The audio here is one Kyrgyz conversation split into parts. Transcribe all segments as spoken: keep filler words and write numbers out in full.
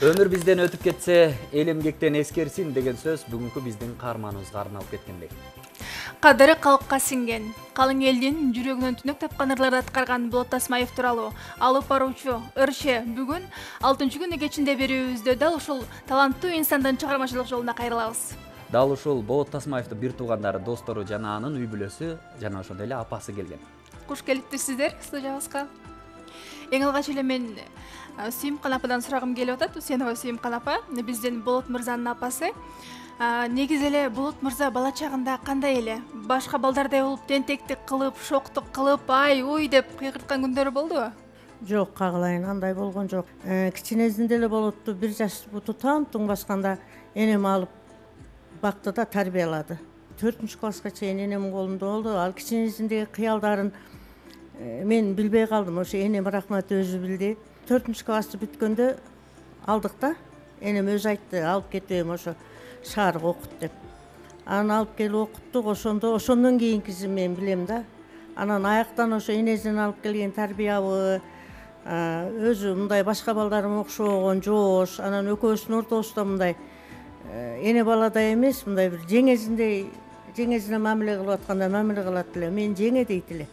Өмүр бизден өтүп кетсе, эл эмгектен эскерсин деген сөз бүгүнкү биздин каарманыбызга арналып кеткендей. Кадыры калкка сиңген, калың элдин жүрөгүнөн түнөк тапкан ырларды аткарган Болот Тасмаев тууралуу алып баруучу ырчы бүгүн алтынчы күнү кечинде берүүбүздө дал ушул таланттуу инсандын чыгармачылык жолуна кайрылабыз. Дал ушул Болот Тасмаевдин бир туугандары, достору жана анын үй бүлөсү жана ошондой эле апасы келген. Куш келиптирсиздер студиябызга. Эң алгач эле мен Сүйүмкан ападан сурагым келип атат. Усенова Сүйүмкан апа, биздин Болот мырзанын апасы. Негизи эле Болот мырза бала чагында кандай эле? Башка балдардай болуп тентектик кылып, шоктук кылып, ай, уй деп кыйкырткан күндөрү болдубу? Жок, кагылайын, андай болгон жок. Кичинесинде эле Болотту бир жаш тутам-туң басканда энем алып бакты да тарбиялады. төртүнчү класска чейин энемдин колунда болду. Ал кичинесиндеги кыялдарын мен билбей калдым. Ошо энем рахмат өзү билди. төртүнчү классты бүткөндө алдык да. Энем өзү айтты, алып кетем ошо шаарга окут деп. Аны алып келип окуттук. Ошондо ошондон кийинкисин мен билем да. Анан аяктан ошо энесинен алып келген тарбиябы, өзү мындай башка балдарым окшобогон жоош, анан экөөбүздүн ортобузда мындай эне баладай эмес, мындай бир жеңесиндей, жеңесине мамиле кылып аткандай мамиле кылат эле. Мен жеңе дейт эле.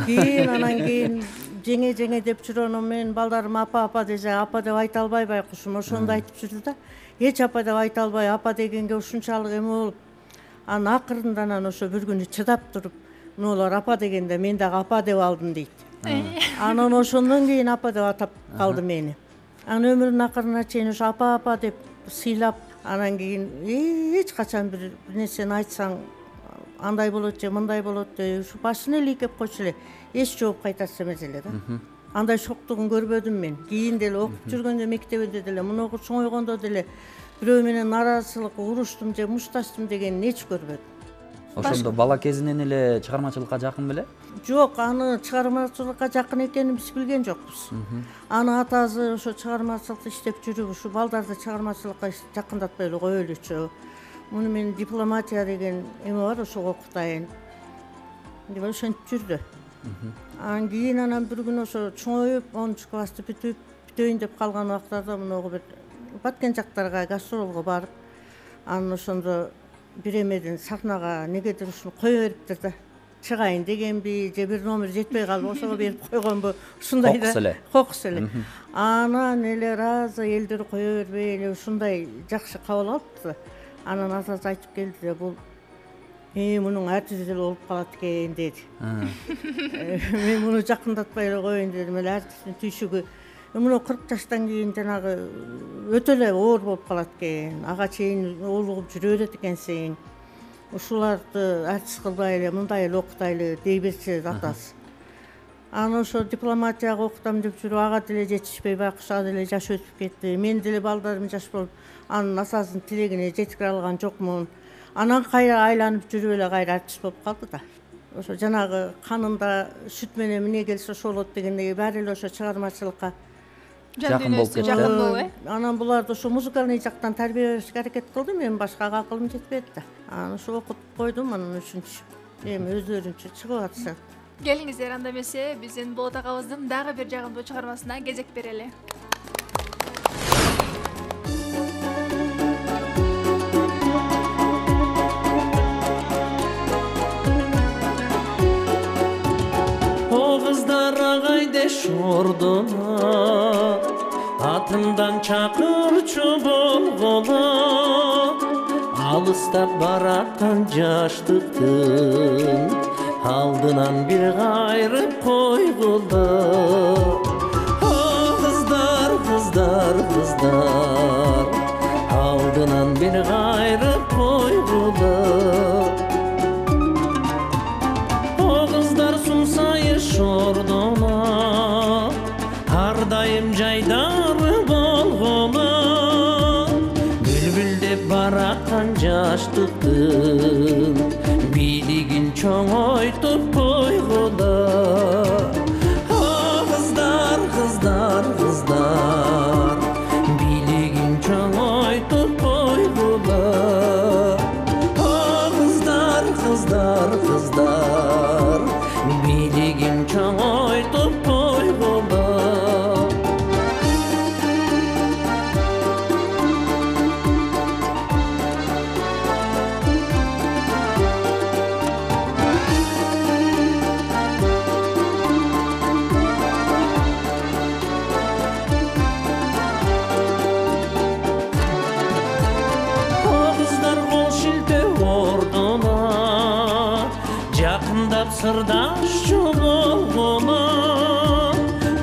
Кийин анан кийин жеңе жеңе деп жүрөнүм, мен балдарым апа апа десе, апа деп айта албай байкушум, ошондо айтып жүрдү да. Эч апа деп айта албай, апа дегенге ушунчалык эме болуп, анан акырында анан ошо бир күнү чыдап туруп, мунулар апа дегенде мен дагы апа деп алдым дейт. Анан ошондон кийин апа деп атап калды мени. Анан өмүрүнүн акырына чейин ошо апа апа деп сыйлап, анан кийин эч качан бир нерсени айтсаң андай болот же мындай болот деп ушу башын эле ийкеп койчу эле. Эч жооп кайтарчу эмес эле да. Андай шоктугун көрбөдүм мен. Кийин деле окуп жүргөндө мектебинде деле, мунугу чоңойгондо деле бирөө менен нараазычылык, уруштум же мушташтым дегенин эч көрбөдүм. Ошондо бала кезинен эле чыгармачылыкка жакын беле? Жок, аны чыгармачылыкка жакын экенин биз билген жокпуз. Аны атасы ошо чыгармачылыкта иштеп жүрүп, ушу балдарды чыгармачылыкка жакындатпай эле коелучу. Муну мен дипломатия деген эме бар, ошого окутайын деп ошентип жүрдү. Анан кийин анан бир күнү ошо чоңоюп, онунчу классты бүтүп, бүтөйүн деп калган убактарда мунугу бир баткен жактарга гастролго барып, анан ошондо бир эмеден сахнага негедир ушуну кое бериптир да. Чыгайын дегенби же бир номер жетпей калып ошого берип койгонбу, ушундай да. Кокус эле. Кокус эле. Анан эле разы элдер кое бербей эле ушундай жакшы кабыл алыптыр. Анан атасы айтып келди де, бул э мунун артист эле болуп калат экен деди. Мен муну жакындатпай эле коеюн дедим, эле артисттин түйшүгү муну кырк жаштан кийин жанагы өтө эле оор болуп калат экен. Ага чейин олугуп жүрө берет экенсиң. Ушуларды артист кылбай эле мындай эле окутайлы дей берчү атасы. Анан ошо дипломатияга окутам деп жүрүп, ага деле жетишпей байкуш ага деле жаш өтүп кетти. Мен деле балдарым жаш болуп, анын атасынын тилегине жеткире алган жокмун. Анан кайра айланып жүрүп эле кайра артист болуп калды да. Ошо жанагы канында сүт менен эмне келсе ошо болот дегендей баары эле ошо чыгармачылыкка жакын болуп кетти. Жакын болуп, э? Анан буларды ошо музыкалный жактан тарбие беришке аракет кылдым, мен башкага акылым жетпеди да. Анан ошо окутуп койдум, анан үчүнчү эми өздөрүнчө чыгып атышат. Келиңиздер, анда эмесе биздин Болот агабыздын дагы бир жагымдуу чыгармасына кезек берели. Шордона атымдан чакырчу болгола, алыстап бараткан жаштыктын алдынан бир кайрып койгула. Кыздар, кыздар, кыздар алдынан бир кайрып койгула. Кыздар сумсайыр шордона ар дайым жайдары болгола, бүлбүлдеп бараткан жаштыктын бийлигин чоңойтуп койгула. Кыздар, кыздар, кыздар бийлигин чоңойтуп койгула. Кыздар, кыздар, кыздар бийлигин чоңойтуп койгула. сырдашчу болгону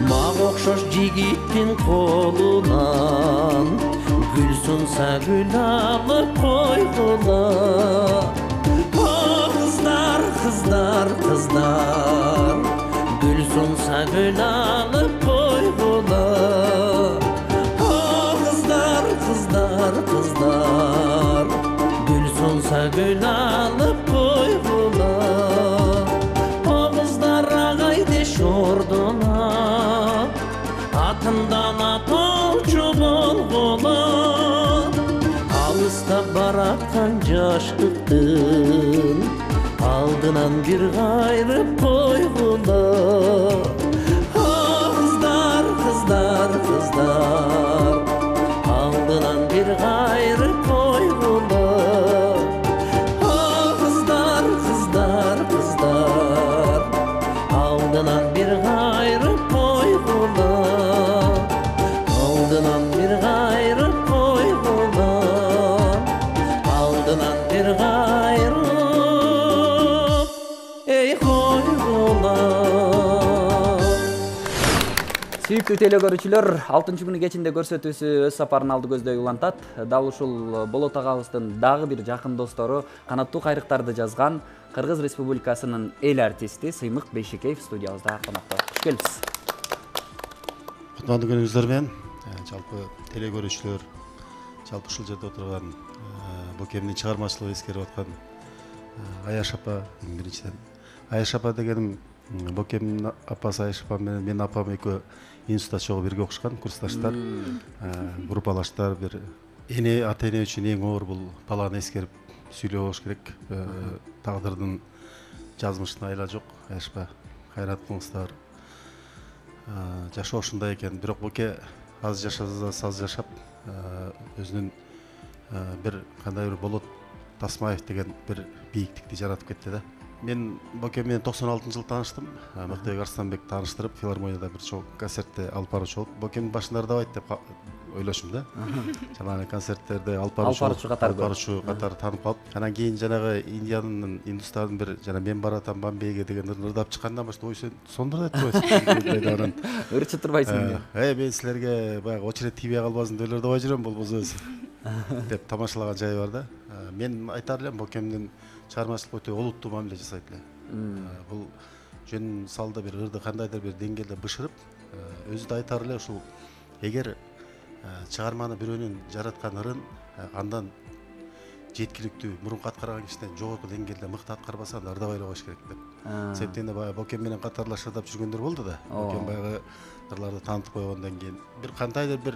мага окшош жигиттин колунан гүл сунса гүл алып койгула кыздар кыздар кыздар гүл сунса гүл алып койгула кыздар кыздар кыздар гүл сунса гүл алып койгула кыздар агайдеш ордуна атымдан атоочу болгула алыста бараткан жаштыктын алдынан бир кайрып койгула кыздар кыздар кыздар алдынан бир кайрып койгула кыздар кыздар кыздар алдынан бир кайрып койгула алдынан бир кайрып койгула алдынан бир кайрып эй койгула. Сүйүктүү телекөрүүчүлөр, алтынчы күнү кечинде көрсөтүүсү өз сапарын алды көздөй улантат. Дал ушул Болот агабыздын дагы бир жакын достору канаттуу кайрыктарды жазган Кыргыз Республикасынын эл артисти Сыймык Бейшикеев студиябызда конокто. Куш келипсиз. Кутмандуу күнүңүздөр менен жалпы телекөрүүчүлөр, жалпы ушул жерде отурган Бокемдин чыгармачылыгын эскерип аткан Аяш апа, биринчиден Аяш апа дегеним Бокемдин апасы Аяш апа менен менин апам экөө институтта чогуу бирге окушкан, курсташтар, группалаштар. Бир эне ата эне үчүн эң оор бул баланы эскерип сүйлөө болуш керек. Тагдырдын жазмышына айла жок. Аяш апа, кайрат кылыңыздар. Жашоо ушундай экен. Бирок Боке аз жашаса да аз жашап, өзүнүн бир кандай бир Болот Тасмаев деген бир бийиктикти жаратып кетти да. Мен Боке менен токсон алтынчы жылы тааныштым. Мыктыбек Арстанбек тааныштырып, филармонияда бир чоң концертте алып баруучу болуп, Бокемдин башында ырдабайт деп ойлошум да. Жанагы концерттерде алып баруучу катары таанып калып, анан кийин жанагы Индиянын, Индустандын бир жана мен баратам Бомбейге деген ырдап чыккандан баштап ой сен сондур деп койсуң. Өрчү турбайсың. Э, мен силерге баягы очередь тийбей калбасын деп ырдабай жүрөм, болбосо деп тамашалаган жайы бар да. Мен айтар элем Бокемдин чыгармачылык өтө олуттуу мамиле жасайт эле. Бул жөн салда бир ырды кандайдыр бир деңгээлде бышырып, өзү да айтар эле ушул эгер чыгарманы бирөөнүн жараткан ырын андан жеткиликтүү мурунку аткарган кишиден жогорку деңгээлде мыкты аткарбаса анда ырдабай эле коюш керек деп. Себептен баягы Бокем менен катарлаш ырдап жүргөндөр болду да. Бокем баягы ырларды таанытып койгондон кийин бир кандайдыр бир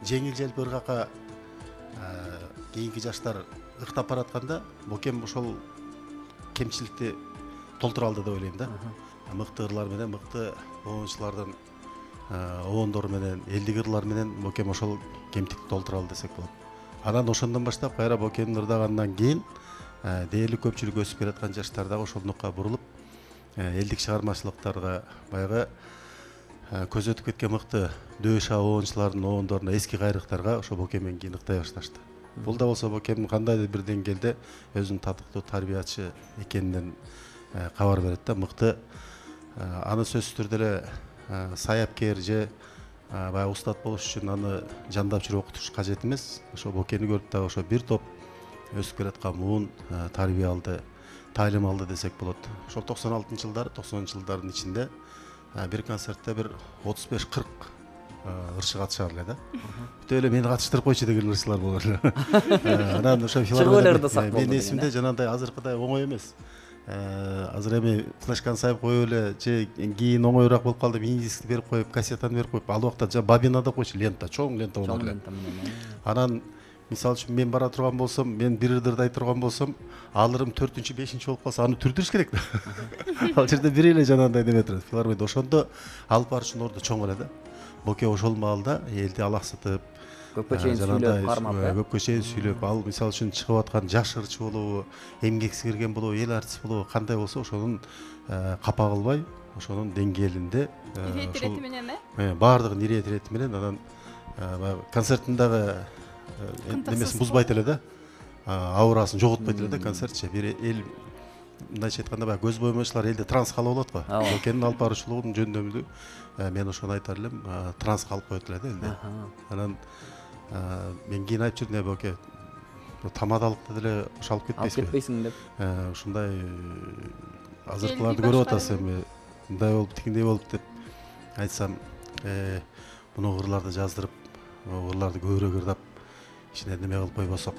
жеңил желпи ыргакка кийинки жаштар ыктап баратканда Бокем ошол кемчиликти толтура алды деп ойлойм да. Мыкты ырлар менен, мыкты оончулардын оондору менен, элдик ырлар менен Бокем ошол кемтикти толтура алды десек болот. Анан ошондон баштап кайра Бокемдин ырдагандан кийин дээрлик көпчүлүк өсүп келаткан жаштар дагы ошол нукка бурулуп, элдик чыгармачылыктарга баягы көз өтүп кеткен мыкты дөша оончулардын оондоруна, эски кайрыктарга ошо Бокемден кийин ыктай башташты. Бул да болсо Бокемдин кандайдыр бир деңгээлде өзүнүн татыктуу тарбиячы экенинен кабар берет да. Мыкты аны сөзсүз түрдө эле саяпкер же баягы устат болуш үчүн аны жандап жүрүп окутуш кажет эмес. Ошо Бокени көрүп дагы ошо бир топ өсүп келаткан муун тарбия алды, таалим алды десек болот. Ошол токсон алтынчы жылдары, токсонунчу жылдардын ичинде бир концертте бир отуз беш кырк ырчы катышар эле да. Бүтө эле мени катыштырып койчу деген ырчылар болор эле. Анан ошо филармонияда менин эсимде жанагындай азыркыдай оңой эмес. Азыр эми флешканы сайып коюп эле же кийин оңоюраак болуп калды, мини-дискти берип коюп, кассетаны берип коюп, ал убакта бобина деп койчу, лента, чоң лента болор эле. Анан мисалы үчүн мен бара турган болсом, мен бир ырды ырдай турган болсом, ал ырым төртүнчү, бешинчи болуп калса, аны түрдүрүш керек да. Ал жерде бир эле жанагындай неме турат. Филармонияда ошондо алып баруучунун орду чоң эле да. Боке ошол маалда элди алаксытып, көпкө чейин сүйлөп, кармап, көпкө чейин сүйлөп, ал мисалы үчүн чыгып аткан жаш ырчы болобу, эмгекси кирген болобу, эл артист болобу, кандай болсо ошонун капа кылбай, ошонун деңгээлинде ошол менен э баардыгын ирэет ирэти менен анан баягы концерттин дагы немесин бузбайт эле да, аурасын жоготпойт эле да концертчи. Бир эл мындайча айтканда баягы көз боямаучулар элде трансқа алып алат го. Бокенин алып баруучулугун жөндөмдү мен ошону айтар элем, трансқа алып коет эле да элде. Анан мен кийин айтып жүрдүм, боке тамадалыкты деле ошо алып кетпейсиңби? Алып кетпейсиң деп. Ушундай азыркыларды көрүп атасың, мындай болуп, тигиндей болуп деп айтсам, муну ырларды жаздырып, ырларды көбүрөөк ырдап, ичине неме кылып койбосок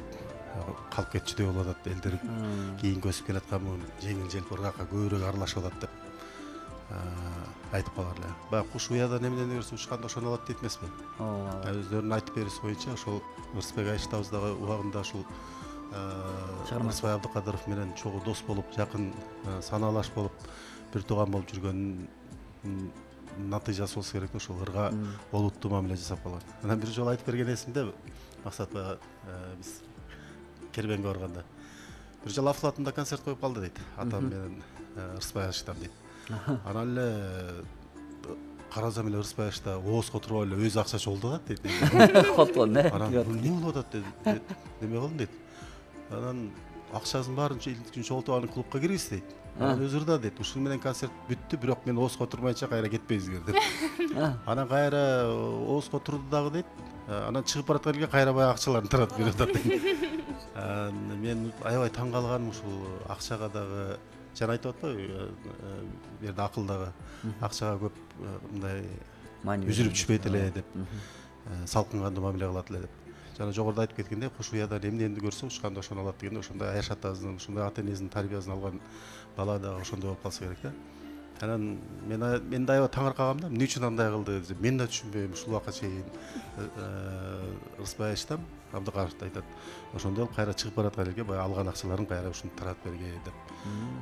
калып кетчүдөй болуп атат, элдер кийинки өсүп келаткан жеңил желпи ыргакка көбүрөөк аралашып атат деп айтып калар эле. Баягы куш уядан эмнени көрсө учканда ошону алат дейт эмеспи? Өздөрүнүн айтып берүүсү боюнча ошол Ырысбек Айштабыздагы убагында ушул Ырысбай Абдыкадыров менен чогуу дос болуп, жакын санаалаш болуп, бир тууган болуп жүргөнүнүн натыйжасы болсо керек да, ошол ырга олуттуу мамиле жасап калган. Анан бир жолу айтып берген эсимде, Максат баягы биз Кербенге барганда бир жолу Афлатында концерт коюп калды дейт, атам менен Ырысбай Айштам дейт. Анан эле карасам эле Ырысбай Айшта оозго турбап эле өзү акча чогулдуп атат дейт. Котлон э. Анан эмне болуп атат дейт, неме кылдым дейт. Анан акчасын баарын чогултуп аны клубка киргиз дейт. Анан өзү ырда дейт. Ушуну менен концерт бүттү, бирок мен оозго турмайынча кайра кетпейсиңер деп. Анан кайра оозго турду дагы дейт. Анан чыгып бараткан элге кайра баягы акчаларын таратып берип атат дейт. Мен аябай таң калганым ушул акчага дагы, жана айтып атпайбы, бу жерде акылдагы акчага көп мындай үзүлүп түшпөйт эле деп, салкын кандуу мамиле кылат эле деп. Жана жогоруда айтып кеткендей, куш уядан эмнени көрсө учканда ошону алат дегенде, ошондой Аяш атабыздын, ошондой ата энесинин тарбиясын алган бала дагы ошондой болуп калса керек да. Анан мен мен да аябай таңыркагам да, эмне үчүн андай кылды деп. Мен да түшүнбөйм ушул убакка чейин. Ырысбай Айштам Абдыкадыров айтат, ошондой кайра чыгып бараткан элге баягы алган акчаларын кайра ушуну таратып берген деп.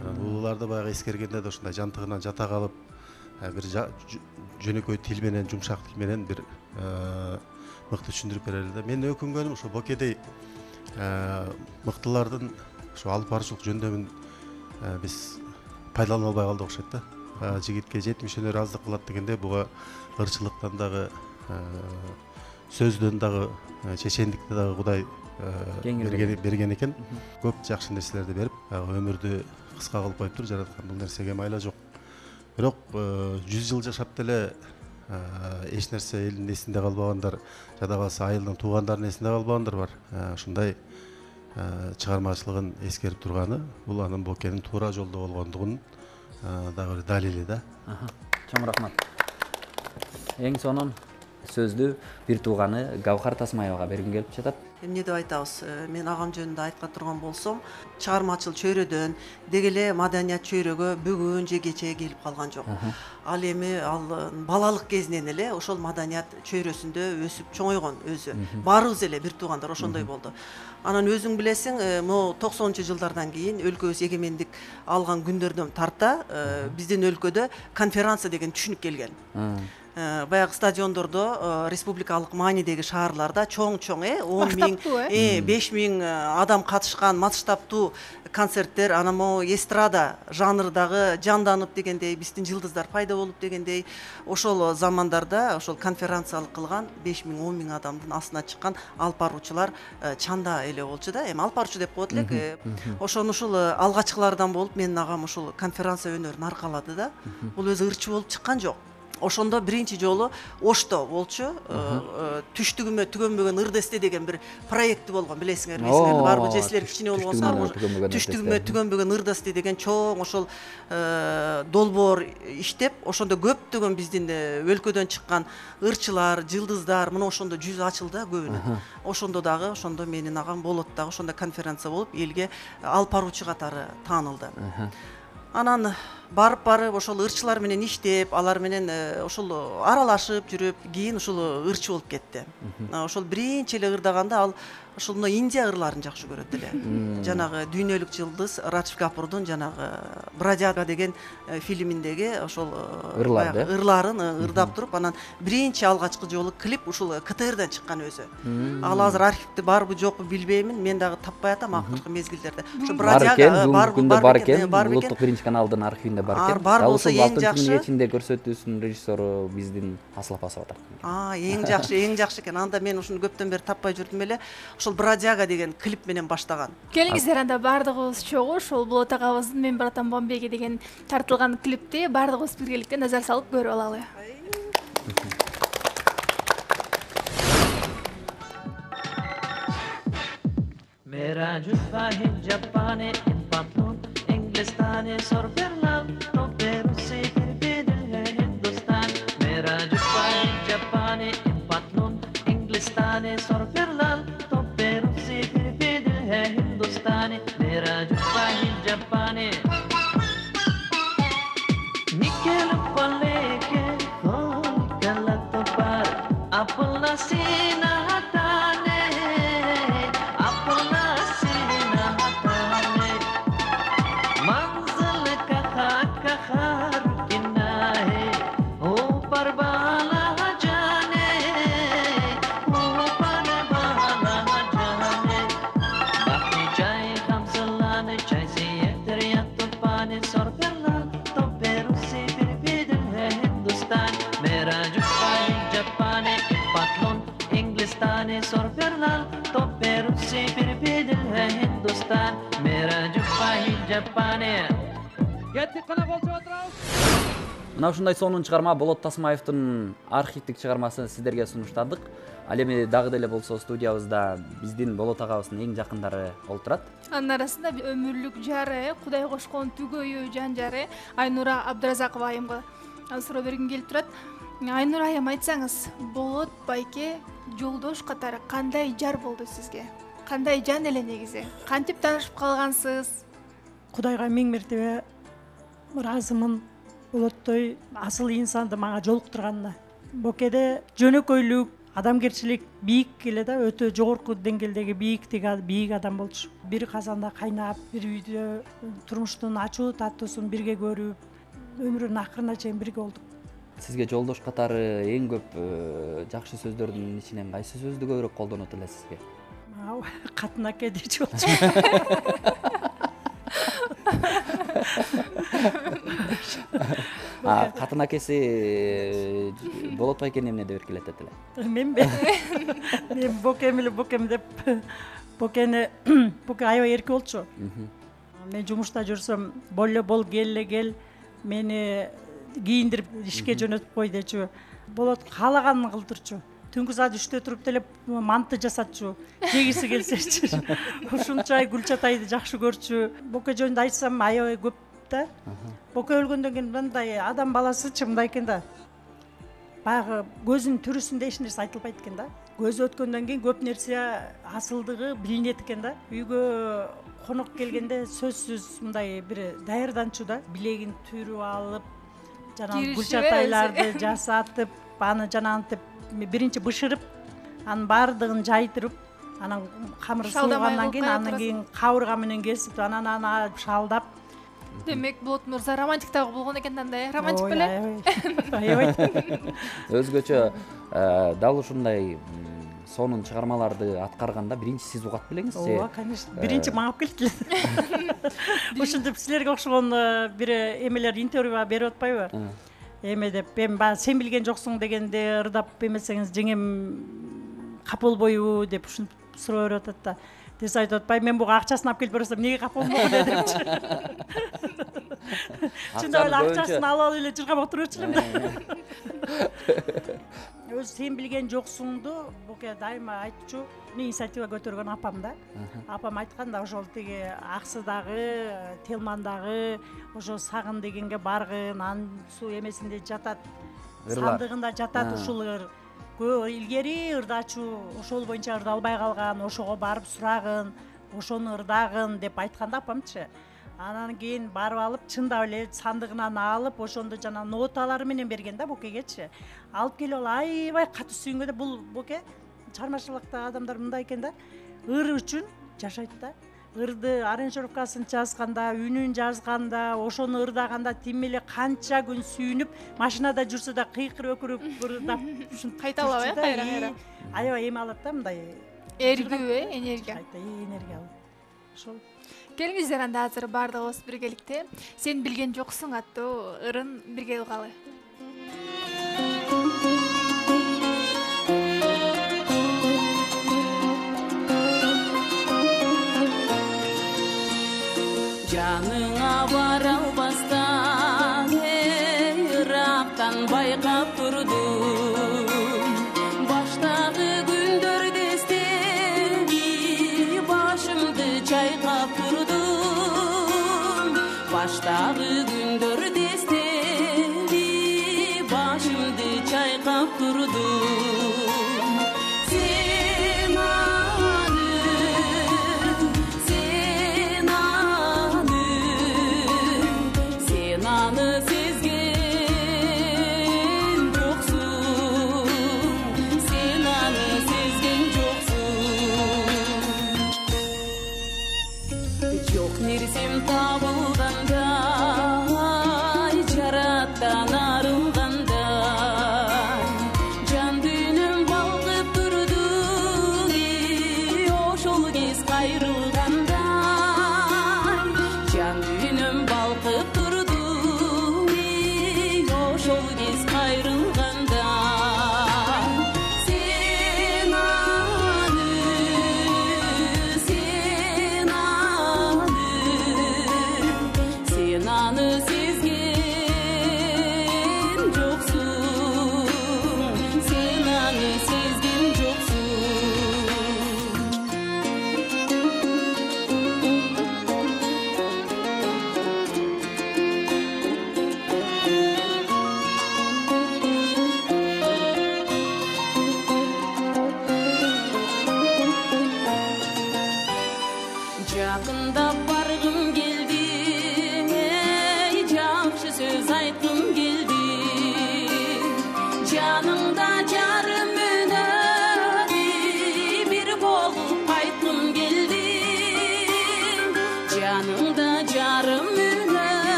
Анан улууларды баягы эскергенде да ушундай жантыгынан жата калып, бир жөнөкөй тил менен, жумшак тил менен бир мыкты түшүндүрүп берели да. Мен өкүнгөнүм ошо Бокедей мыктылардын ошо алып баруучулук жөндөмүн биз пайдалана албай калдык окшойт да. Жигитке жетимиш өнөр аздык кылат дегенде, буга ырчылыктан дагы, сөздөн дагы, чечендикти дагы Кудай берген экен. Көп жакшы нерселерди берип, өмүрдү кыска кылып коюптур, жараткан. Бул нерсеге майла жок. Бирок жүз жыл жашап деле эч нерсе элдин эсинде калбагандар, жада калса айылдын туугандардын эсинде калбагандар бар. Ушундай чыгармачылыгын эскерип турганы, бул анын Бокенин туура жолдо болгондугунун дагы бир далили да. Чоң рахмат. Эң сонун сөздү бир тууганы Гаухар Тасмаевага бергим келип жатат. Эмне деп айтабыз? Мен агам жөнүндө айткан турган болсом, чыгармачыл чөйрөдөн деги эле маданият чөйрөгө бүгүн же кече келип калган жок. Ал эми ал балалык кезинен эле ошол маданият чөйрөсүндө өсүп чоңойгон өзү. Баарыбыз эле бир туугандар ошондой болду. Анан өзүң билесиң, могу токсонунчу жылдардан кийин өлкөбүз эгемендик алган күндөрдөн тарта биздин өлкөдө конференция деген түшүнүк келген. Баягы стадиондордо, республикалык маанидеги шаарларда чоң-чоң он миң, беш миң адам катышкан масштабтуу концерттер, анан могу эстрада жанрдагы жанданып дегендей, биздин жылдыздар пайда болуп дегендей, ошол замандарда ошол конференциялык кылган беш миң, он миң адамдын астына чыккан алып баруучулар чанда эле болчу да. Эми алып баруучу деп коет элек. Ошону ушул алгачкылардан болуп, менин агам ушул конференция өнөрүн аркалады да. Бул өзү ырчы болуп чыккан жок. Ошондо биринчи жолу Ошто болчу, түштүгүмө түгөнбөгөн ырдесте деген бир проекти болгон, билесиңер, билесиңер, барбы жесилер кичине болгонсо, түштүгүмө түгөнбөгөн ырдесте деген чоң ошол долбоор иштеп, ошондо көптөгөн биздин өлкөдөн чыккан ырчылар, жылдыздар, мына ошондо жүз ачылды көбүнүн. Ошондо дагы, ошондо менин агам болот дагы ошондо конференция болуп, элге алып баруучу катары таанылды. Анан барып барып ошол ырчылар менен иштеп, алар менен ошол аралашып жүрүп, кийин ушул ырчы болуп кетти. Ошол биринчи эле ырдаганда ал ошол мына Индия ырларын жакшы көрөт эле. Жанагы дүйнөлүк жылдыз Радж Капурдун жанагы Бродяга деген фильминдеги ошол ырларын ырдап туруп, анан биринчи алгачкы жолу клип ушул КТРден чыккан өзү. Ал азыр архивде барбы жокпу билбеймин, мен дагы таппай атам акыркы мезгилдерде. Ошо Бродяга бар экен, бар экен. Улуттук биринчи каналдын архивинде бар Ар- экен. бар Дал болсо ушул эң алтынчы жакшы. күнүн кечинде көрсөтүүсүнүн режиссеру биздин Асыл апа атат. А, эң жакшы, эң жакшы экен. Анда мен ушуну көптөн бери таппай жүрдүм эле. Ошол Бродяга деген клип менен баштаган. Келиңиздер анда баардыгыбыз чогуу ошол Болот агабыздын Мен братам Бомбейге деген тартылган клипти баардыгыбыз биргеликте назар салып көрүп алалы. मेरा जुत्ता है जापानी पतलून इंग्लिस्तानी सोरबेरलाल तो पेरू से फिर भी दिल है हिंदुस्तान मेरा जुत्ता है जापानी पतलून इंग्लिस्तानी सोरबेरलाल तो पेरू से फिर भी दिल है हिंदुस्तानी मेरा जुत्ता है जापानी निकल पले के खोल गलत पर अपना सीना हटाने अपना सीना हटाने मंजिल कहा कहा रुकना है ऊपर वाला जाने ऊपर वाला जाने बाकी चाहे हम सलाने चाहे से तेरे तो पानी सर करना तो पेरू से फिर भी दिल है हिंदुस्तान मेरा जुत्ता है जापानी पतलून इंग्लिस्तानी सर करना तो पेरू से फिर भी दिल है हिंदुस्तान मेरा जुत्ता है जापानी Мына ушундай сонун чыгарма Болот Тасмаевдин архивдик чыгармасын сиздерге сунуштадык. Ал эми дагы деле болсо студиябызда биздин Болот агабыздын эң жакындары олтурат. Анын арасында өмүрлүк жары, Кудай кошкон түгөйү жан жары Айнура Абдыразакова айымга суроо бергим келип турат. Айнура айым, айтсаңыз, Болот байке жолдош катары кандай жар болду сизге? Кандай жан эле негизи? Кантип таанышып калгансыз? Кудайга миң мертебе ыраазымын. Болоттой асыл инсанды мага жолуктурганына. Бокеде жөнөкөйлүк, адамгерчилик бийик эле да, өтө жогорку деңгээлдеги бийиктик бийик адам болчу. Бир казанда кайнап, бир үйдө турмуштун ачуу таттуусун бирге көрүп, өмүрүнүн акырына чейин бирге болдук. Сизге жолдош катары эң көп жакшы сөздөрдүн ичинен кайсы сөздү көбүрөөк колдонот эле сизге? Катын аке дечү болчу. А катын акеси Болот байкени эмне деп эркелетет эле? Менби. Мен бокем эле бокем деп бокени боке аябай эрке болчу. Мен жумушта жүрсөм, болле бол, келле кел, мени кийиндирип ишке жөнөтүп кой дечү. Болот каалаганын кылдырчу. Түнкү саат үчтө туруп деле манты жасатчу, жегиси келсечи. Ушунчай Гүлчатайды жакшы көрчү. Боке жөнүндө айтсам аябай көп да. Боке өлгөндөн кийин мындай адам баласычы мындай экен да. Баягы көзүнүн түрүсүндө эч нерсе айтылбайт экен да. Көзү өткөндөн кийин көп нерсе асылдыгы билинет экен да. Үйгө конок келгенде сөзсүз мындай бир даярданчу да. Билегин түрүп алып, жана Гүлчатайларды жасатып, аны жанагынтип биринчи бышырып, анын баардыгын жайдырып, анан камыр суугандан кийин андан кийин кабырга менен кесип, анан аны шалдап. Демек, Болот мырза романтик дагы болгон экен да, романтик беле? Аябай. Өзгөчө дал ушундай сонун чыгармаларды аткарганда биринчи сиз угат белеңиз же? Ооба, конечно. Биринчи мага келди. Ушинтип силерге окшогон бир эмелер интервью берип атпайбы? Эме деп, мен баягы сен билген жоксуң дегенде ырдап эмесеңиз жеңем капа болбойбу деп ушинтип суроо берип атат да. Десе айтып атпайбы, мен буга акчасын алып келип берсем, эмнеге капа болмокун депчи. Чындап эле акчасын алып алып эле жыргап отуруп элем да. Өз сен билген жоксуңду Боке дайыма айтчу, инициатива көтөргөн апам да. Апам айткан да, ошол тиги Аксыдагы, Телмандагы, ошо Сагын дегенге баргын, анын суу эмесинде жатат, сандыгында жатат ушул ыр. Көө илгери ырдачу, ошол боюнча ырдалбай калган, ошого барып сурагын, ошону ырдагын деп айтканда апамчы. Анан кийин барып алып, чындап эле сандыгынан алып, ошондо жана ноталары менен берген да Бокегечи. Алып келип ал аябай катуу сүйүнгөн да. Бул Боке чыгармачылыкта адамдар мындай экен да. Ыр үчүн жашайт да. Ырды аранжировкасын жазганда, үнүн жазганда, ошону ырдаганда тим эле канча күн сүйүнүп, машинада жүрсө да кыйкырып өкүрүп ырдап ушинтип кайталап э, кайра-кайра. Аябай эме алат да, мындай эргүү, энергия. энергия алат. ошол. Келиңиздер анда азыр баардыгыбыз биргеликте Сен билген жоксуң аттуу ырын бирге угалы. Жаныңа бара албастан ырактан байкап турдум. Баштагы күндөрдө эстеби башымды чайкап турдум. Баштагы күндөрдө эстеби башымды чайкап турдум.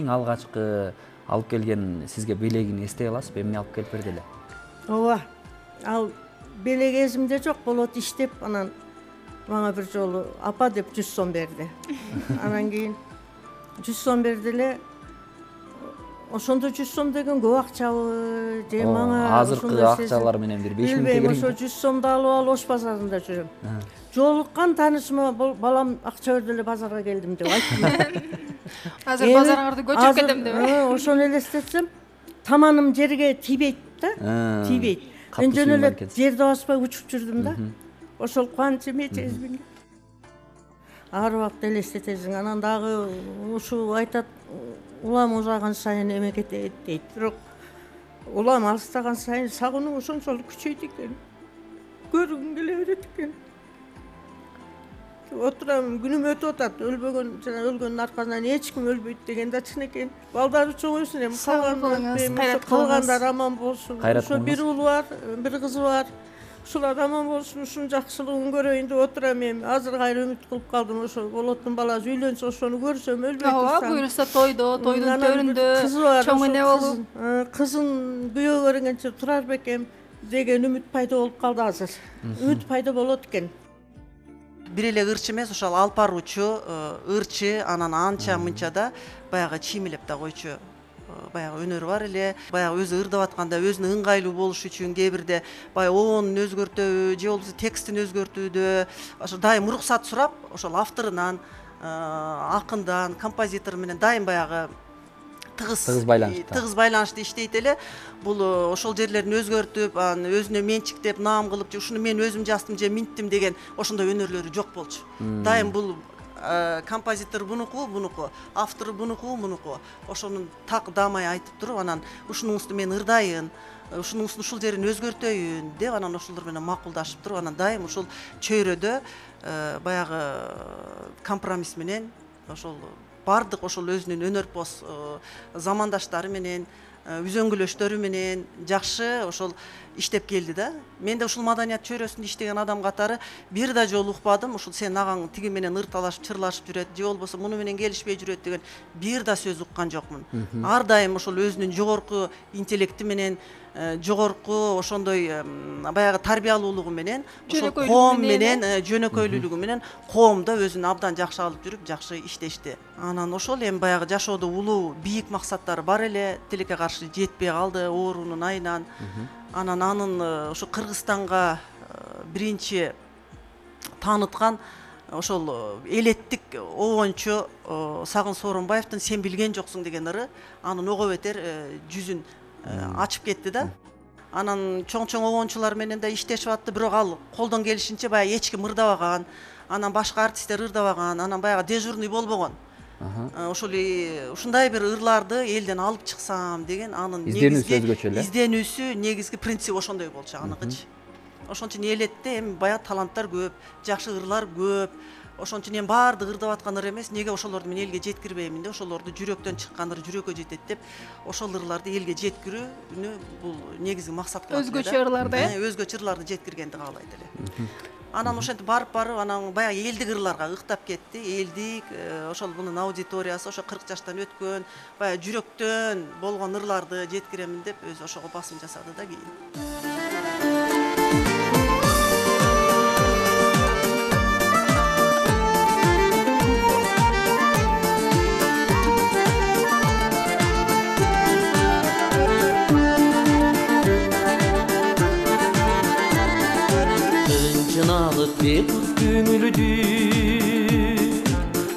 Алгачкы алып келген сизге белегин эстей аласызбы? Эмне алып келип берди эле? Ооба. Ал белек эсимде жок, болот иштеп, анан мага бир жолу апа деп жүз сом берди. Анан кийин жүз сом берди эле. Ошондо жүз сом деген көп акчабы же мага азыркы акчалар менен бир беш миң тегерек. Ошо жүз сомду алып алып Ош базарында жүрөм. Жолуккан таанышыма балам акча берди эле базарга келдим деп айттым. Азыр базарыңарды көчүп кетем деп. Ошону элестетсем, таманым жерге тийбейт да, тийбейт. Мен жөн эле жерди баспай учуп жүрдүм да. Ошол кубаныч эме сезбин. Ар убакыт элестетесиң. Анан дагы ушу айтат, улам узаган сайын эме кетет дейт. Бирок улам алыстаган сайын сагынуу ошончолук күчөйт экен. Көргүм келе берет экен. Отурам, күнүм өтүп атат. Өлбөгөн, жана өлгөндүн аркасынан эч ким өлбөйт деген да чын экен. Балдары чоңойсун, эми калгандар, калгандар аман болсун. Ошо бир уулу бар, бир кызы бар. Ушулар аман болсун, ушунун жакшылыгын көрөйүн деп отурам эми. Азыр кайра үмүт кылып калдым, ошо болоттун баласы үйлөнсө ошону көрсөм өлбөй турсам. Ооба, буюрса тойдо, тойдун төрүндө чоң эне болуп. Кызын күйөө көргөнчө турар бекем. деген үмүт пайда болуп калды азыр. Үмүт пайда болот экен. Бир эле ырчы эмес, ошол алып баруучу ырчы, анан анча мынча да баягы чиймилеп да койчу баягы өнөр бар эле. Баягы өзү ырдап атканда өзүнө ыңгайлуу болуш үчүн кээ бирде баягы оонун өзгөртөбү же болбосо текстин өзгөртүүдө ошо дайым уруксат сурап, ошол авторунан, акындан, композитор менен дайым баягы тыгыз тыгыз байланышта тыгыз байланышта иштейт эле. Бул ошол жерлерин өзгөртүп, аны өзүнө менчиктеп, наам кылып, же ушуну мен өзүм жаздым же минттим деген ошондой өнөрлөрү жок болчу. Дайым бул композитор бунуку, бунуку, автор бунуку, бунуку. Ошонун так дамай айтып туруп, анан ушунуңузду мен ырдайын, ушунуңуздун ушул жерин өзгөртөйүн деп, анан ошолор менен макулдашып туруп, анан дайым ушул чөйрөдө баягы компромисс менен ошол бардык ошол өзүнүн өнөрпоз замандаштары менен, үзөңгүлөштөрү менен жакшы ошол иштеп келди да. Мен да ушул маданият чөйрөсүндө иштеген адам катары бир да жолу укпадым, ушул сен агаң тиги менен ырталашып, чырлашып жүрөт, же болбосо муну менен келишпей жүрөт деген бир да сөз уккан жокмун. Ар дайым ошол өзүнүн жогорку интеллекти менен, жогорку ошондой баягы тарбиялуулугу менен, ошол коом менен, жөнөкөйлүүлүгү менен коомдо өзүн абдан жакшы алып жүрүп, жакшы иштешти. Анан ошол эми баягы жашоодо улуу бийик максаттары бар эле, тилекке каршы жетпей калды оорунун айынан. Анан анын ошо Кыргызстанга биринчи тааныткан ошол элеттик обончу Сагын Сооронбаевдин "Сен билген жоксуң" деген ыры анын ого бетер жүзүн ачып кетти да. Анан чоң-чоң обончулар менен да иштешип атты, бирок ал колдон келишинче баягы эч ким ырдабаган, анан башка артисттер ырдабаган, анан баягы дежурный болбогон. Ошол ушундай бир ырларды элден алып чыксам деген анын негизги изденүүсү, негизги принцип ошондой болчу аныкычы. Ошон үчүн элетте эми баягы таланттар көп, жакшы ырлар көп. Ошон үчүн эми баардык ырдап аткан ыр эмес, неге ошолорду мен элге жеткирбеймин деп, ошолорду жүрөктөн чыккан ыр жүрөккө жетет деп, ошол ырларды элге жеткирүүнү бул негизги максат кылат. Өзгөчө ырларды, э? Өзгөчө ырларды жеткиргенди каалайт эле. Анан ошентип барып барып, анан баягы элдик ырларга ыктап кетти. Элдик, ошол мунун аудиториясы ошо кырк жаштан өткөн, баягы жүрөктөн болгон ырларды жеткиремин деп өзү ошого басым жасады да кийин. Бекут көңүлдү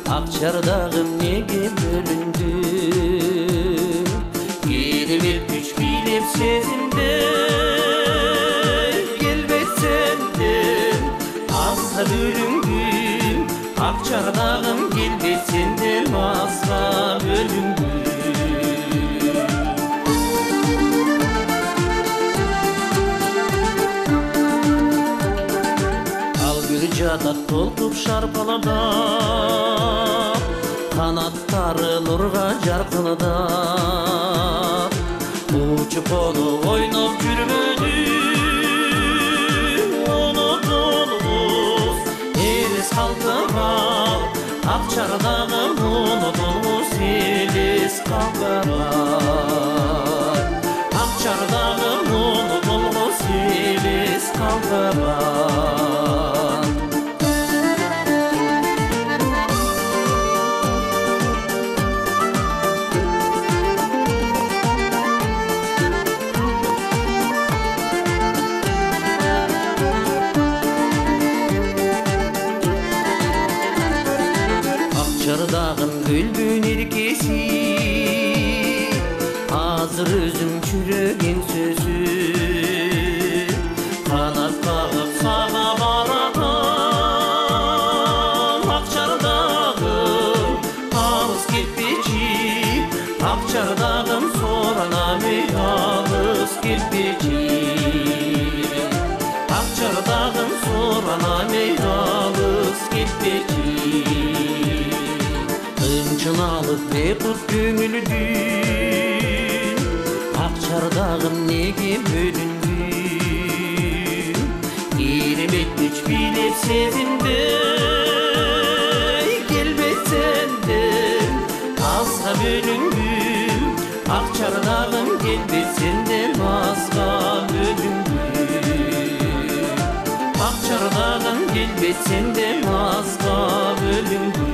акчардагым неге бөлүндү, керемет күч бийлеп сезимде келбейт сенден азга бөлүнгүм, акчардагым келбейт сенден азга бөлүнгүм. Жатат толкуп шарпалада, канаттары нурга жаркынада, учуп кону ойноп жүрмөдү, унутулгус элес калтырап, акчардагы унутулгус элес калтырап, акчардагы унутулгус элес калтырап. Акчардагым көлбөн эркеси, азыр өзүм жүрөгүн сөзү, канат кагып сага баратам. Акчардагым алыс кетпечи, акчардагым соранамы алыс кетпечи, акчардагым соранамы алыс кетпечи. Чыналып бекут көңүлдү акчардагым неге бөлүндү, керемет күч бийлеп сезимде келбейт сенден азга бөлүнгүм, акчардагым келбейт сенден азга бөлүнгүм. чардагым келбейт сенден азга бөлүнгү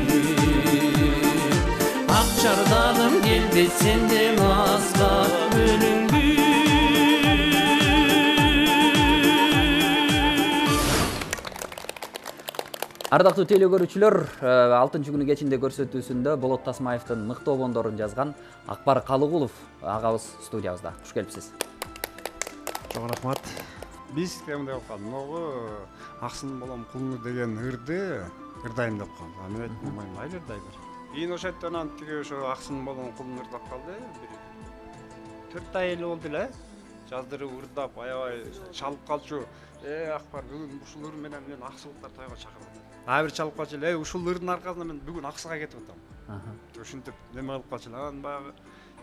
ак чардагым келбейт сенден азга бөлүнгү Ардактуу теле көрүүчүлөр, алтынчы күнү кечинде көрсөтүүсүндө Болот Тасмаевдин мыкты обондорун жазган Акбар Калыгулов агабыз студиябызда. Куш келипсиз. Чоң рахмат. Биз кемде окуп могу аксын болом кулуну деген ырды ырдайм деп калды. А мен айттым, майли ырдайлар. Кийин ошондон тиги ошо аксын болом кулуну ырдап калды. Бир төрт ай эле болду эле. Жаздырып ырдап, аябай чалып калчу. Э, Акбар, бүгүн ушул ыр менен мен Аксылыктар тойго чакырдым. А бир чалып калчу эле, ушул ырдын аркасында мен бүгүн Аксыга кетип атам. Ушинтип неме кылып калчу эле. Анан баягы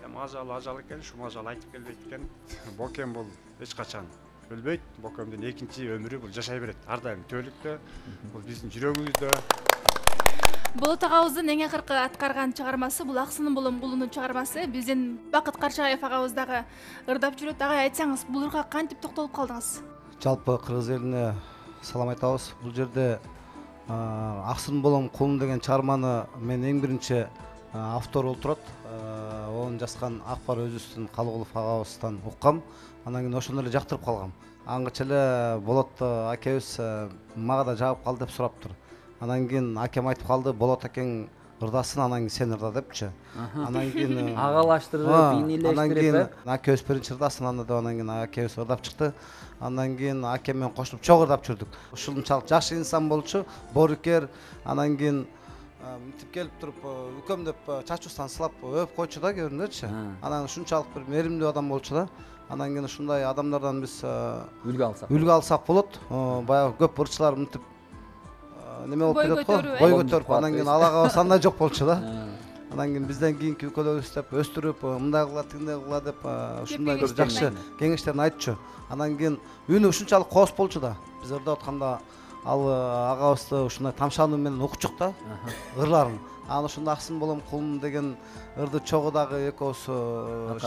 эми ажал ажал экен, ушул ажал айтып келбейт экен. Бокем бул эч качан өлбөйт. Бокемдин экинчи өмүрү бул жашай берет. Ар дайым төөлүктө, бул биздин жүрөгүбүздө. Болот агабыздын эң акыркы аткарган чыгармасы бул Аксынын болом кулунун чыгармасы. Биздин Бакыт Каршаев агабыз дагы ырдап жүрөт. Агай, айтсаңыз, бул ырга кантип токтолуп калдыңыз? Жалпы кыргыз элине салам айтабыз. Бул жерде Аксын болом кулун деген чыгарманы мен эң биринчи автор болуп турат. Onu жазган Акбар өзүбүздүн Калыгулов агабыздан уккам. Анан кийин ошондо эле жактырып калгам. Аңгыча эле Болот акебиз мага да жагып калды деп сураптыр. Анан кийин акем айтып калды, Болот акең ырдасын, анан кийин сен ырда депчи. Анан кийин агалаштырып, бийнелештирип, анан кийин акебиз биринчи ырдасын, анда деп анан кийин акебиз ырдап чыкты. Андан кийин акем менен кошулуп чогуу ырдап жүрдүк. Ушунчалык жакшы инсан болчу, боорукер. Анан кийин мынтип келип туруп, үкөм деп чачуусунан сылап өп койчу да көрүнөчү. Анан ушунчалык бир меримдүү адам болчу да. Анан кийин ушундай адамдардан биз үлгү алсак. Үлгү алсак болот. Баягы көп ырчылар мынтип неме болуп кетет го, бой көтөрүп, анан кийин алагабыз андай жок болчу да. Анан кийин бизден кийинки үкөлөрүбүз деп өстүрүп, мындай кыла, тигиндей кыла деп ушундай бир жакшы кеңештерин айтчу. Анан кийин үнү ушунчалык кооз болчу да. Биз ырдап атканда ал агабызды ушундай тамшануу менен укчук да ырларын. Анан ошондо Аксын болом кулун деген ырды чогуу дагы экөөбүз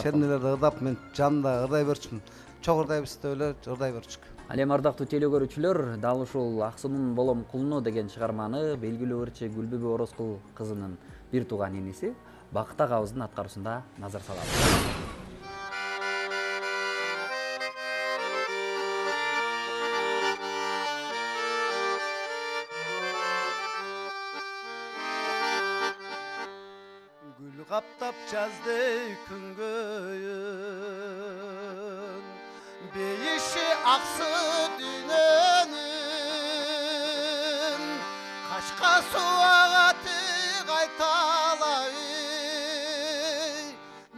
шернелерди ырдап, мен жанында ырдай берчүмүн. Чогуу ырдайбыз деп эле ырдай берчүк. Ал эми ардактуу теле көрүүчүлөр, дал ушул Аксынын болом кулуну деген чыгарманы белгилүү ырчы Гүлбүбү Орозкул кызынын бир тууган иниси Бакыт агабыздын аткаруусунда назар салабыз. Gül kaptap жазды күнгөйүн, бейиши аксы дүйнөнүн, кашка суагаты кайталай,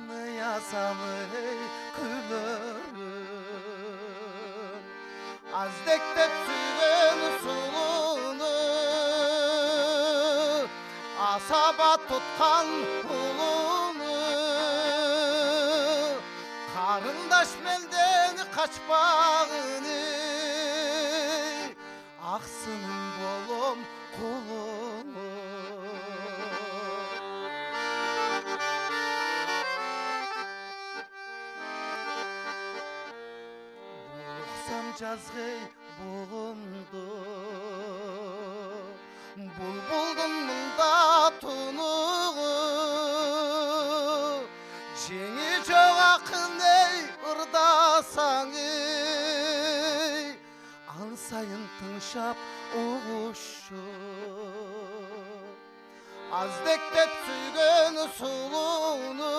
ныязалы күлөрүн, аздектеп сүйгөн сулуну, асаба туткан улуну, карындаш мелден качпагыны, Аксынын болом кулуну. Булуксам жазгый булумду, булбулдун мында тунугу, жеңи жок акын эй ырдасаң эй, ан сайын тыңшап угушу, аздектеп сүйгөн сулуну,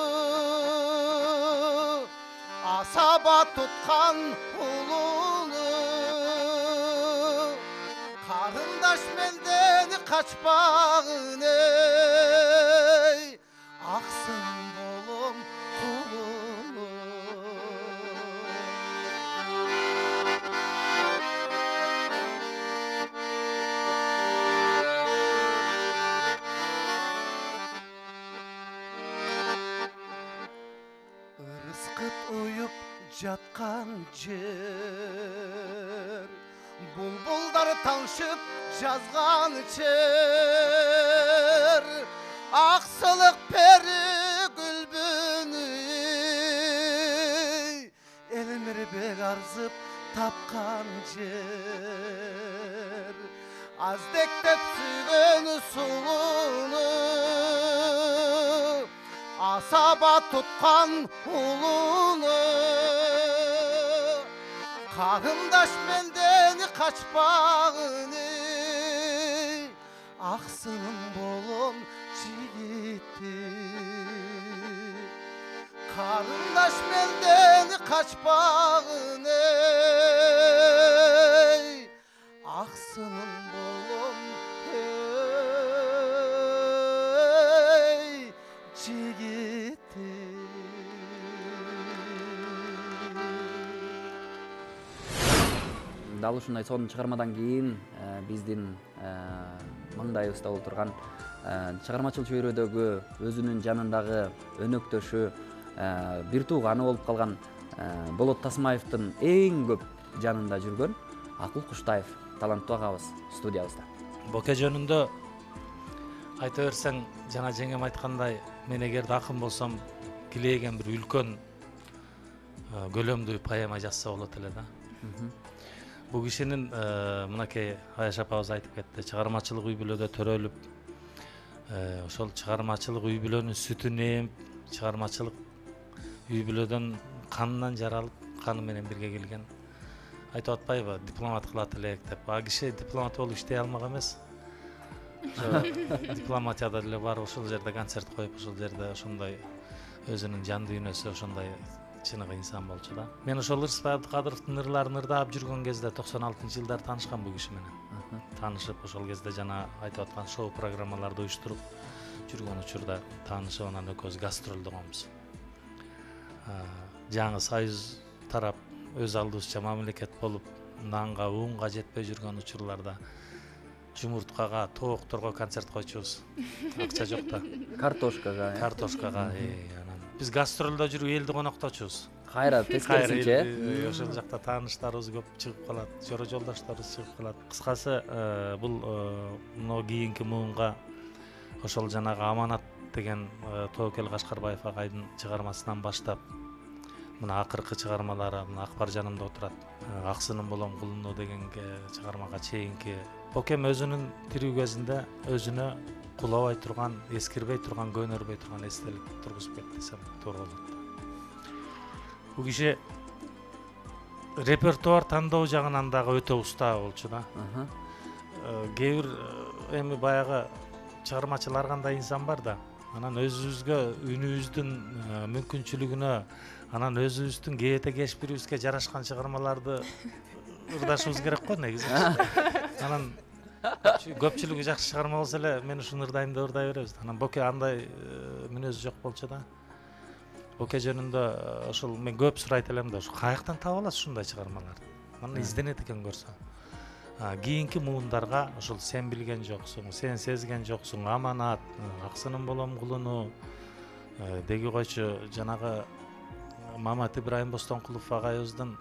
асаба туткан улуну, карындаш мелден качпагын эй, Аксын болом кулуну. Ырыскыт уюп жаткан жер, булбулдар таңшып жазган чер, аксылык пери Гүлбүнү, элмирбек арзып тапкан жер. аздектеп сүйгөн сулууну асаба туткан улууну карындаш менден качпагын аксынын болом жигити карындаш менден качпагын аксынын болом жигити. Дал ушундай сонун чыгармадан кийин биздин маңдайыбызда отурган чыгармачыл чөйрөдөгү өзүнүн жанындагы өнөктөшү бир тууганы болуп калган Болот Тасмаевдин эң көп жанында жүргөн Акыл Куштаев таланттуу агабыз студиябызда. Боке жөнүндө айта берсең, жана жеңем айткандай, мен эгерде акын болсом, килейген бир үлкөн көлөмдүү поэма жазса болот эле да. Бул кишинин мынакей Аяш апабыз айтып кетти, чыгармачылык үй бүлөдө төрөлүп, ошол чыгармачылык үй бүлөнүн сүтүн ээп, чыгармачылык үй бүлөдөн канынан жаралып, каны менен бирге келген. Айтып атпайбы, дипломат кылат элек деп. А киши дипломат болуп иштей алмак эмес. Дипломатияда деле бар, ошол жерде концерт коюп, ошол жерде ошондой өзүнүн жан дүйнөсү ошондой чыныгы инсан болчу да. Мен ошол Ырысбай Абдыкадыровдун ырларын ырдаап жүргөн кезде токсон алтынчы жылдары таанышкан бул киши менен. Таанышып, ошол кезде жана айтып аткан шоу программаларды уюштуруп жүргөн учурда таанышып, анан экөөбүз гастролдогонбуз. Жаңы Союз тарап өз алдыбызча мамлекет болуп, нанга, унга жетпей жүргөн учурларда жумурткага, тоокторго концерт койчубуз. Акча жок да. Картошкага. Картошкага, анан биз гастролдо жүрүп элди конокточубуз. Кайра тескерисинче. Ошол жакта тааныштарыбыз көп чыгып калат, жора жолдошторубуз чыгып калат. Кыскасы, бул мына кийинки муунга ошол жанагы Аманат деген Тоокел Кашкарбаев агайдын чыгармасынан баштап мына акыркы чыгармалары, мына Акбар жанымда отурат, Аксынын болом кулуну деген чыгармага чейинки Бокем өзүнүн тирүү кезинде өзүнө кулабай турган, эскирбей турган, көнөрбөй турган эстелик тургузуп кетти десем туура болот. Бул киши репертуар тандоо жагынан дагы өтө уста болчу да. Кээ бир эми баягы чыгармачылар кандай инсан бар да. Анан өзүбүзгө, үнүбүздүн мүмкүнчүлүгүнө, анан өзүбүздүн кээте кешпирибизге жарашкан чыгармаларды ырдашыбыз керек го негизи. Анан көпчүлүгү жакшы чыгарма болсо эле мен ушуну ырдайм деп ырдай беребиз. Анан Боке андай мүнөзү жок болчу да. Боке жөнүндө ошол мен көп сурайт элем да, ушу каяктан таап аласыз ушундай чыгармаларды? Мына изденет экен көрсө. Кийинки муундарга ошол сен билген жоксуң, сен сезген жоксуң, Аманат, Аксынын болом кулуну, деги койчу жанагы Мамат Ибрайым Бостонкулов агайыбыздын